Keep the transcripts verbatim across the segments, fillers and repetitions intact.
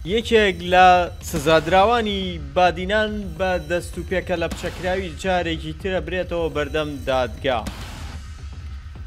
یەکێک لە سزادراوانی بادینان بە دەست و پێکە لە پچەکراوی جارێکی ترە برێتەوە بەردەم دادگا.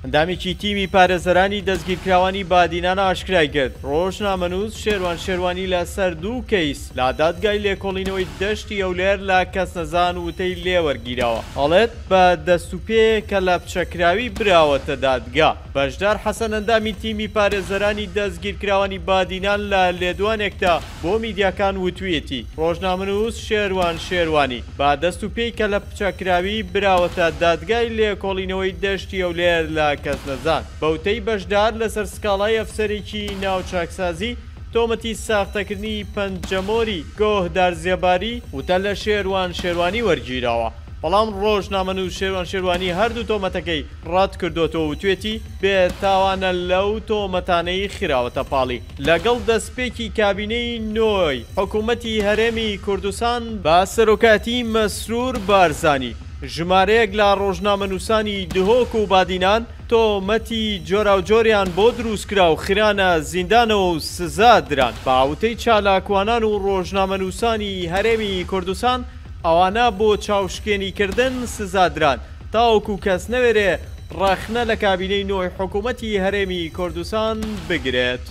ئەندامێکی تیمی پارێزەرانی دەستگیرکراوانی بادینان ئاشکرای کرد ڕۆژنامەنووس شێروان شێروانی لەسەر دوو کەیس لە دادگای لێکۆڵینەوەی دەشتی هەولێر لە کەسنەزان وتەی لێوەرگیراوە. ئەڵێت بە دەست و پێ کە لە پچەکراوی براوەتە دادگا. بەشدار حەسەن ئەندامی تیمی پارێزەرانی دەستگیرکراوانی بادینان لە لێدوانێکدا بۆ میدیاکان وتویەتی ڕۆژنامەنووس شێروان شێروانی بە دەست و پێی کە لە پچەکراوی براوەتە دادگای لێکۆڵینەوەی دەشتی هەولێر لە کەسنەزان. بەوتەی بەشدار لەسەر سکاڵای ئەفسەرێکی ناوچاکسازی تۆمەتی ساختەکردنی پەنجەمۆری گۆهدار زێباری وتە لە شێروان شێروانی وەرگیراوە. بەڵام ڕۆژنامەنووس شێروان شێروانی هەردوو تۆمەتەکەی ڕەت کردوێتەوە وتوێتی بێتاوانە لەو تۆمەتانەی خراوەتە پاڵی. لەگەڵ دەستپێکی کابینەی نۆی حکوومەتی هەرێمی کوردستان بە سەرۆکایەتی مەسرور بارزانی ژمارەیەک لە ڕۆژنامەنووسانی دهۆک و بادینان تۆمەتی جۆراوجۆریان بۆ دروستکرا و خرانە زیندانەوە و سزا دران. باوتەی چالاکوانان و ڕۆژنامەنووسانی هەرێمی کوردستان ئەوانە بۆ چاوشکێنیکردن سزادران تاوەکو کەس نەوێرێ ڕەخنە لە کابینەی نۆی حکوومەتی هەرێمی کوردستان بگرێت.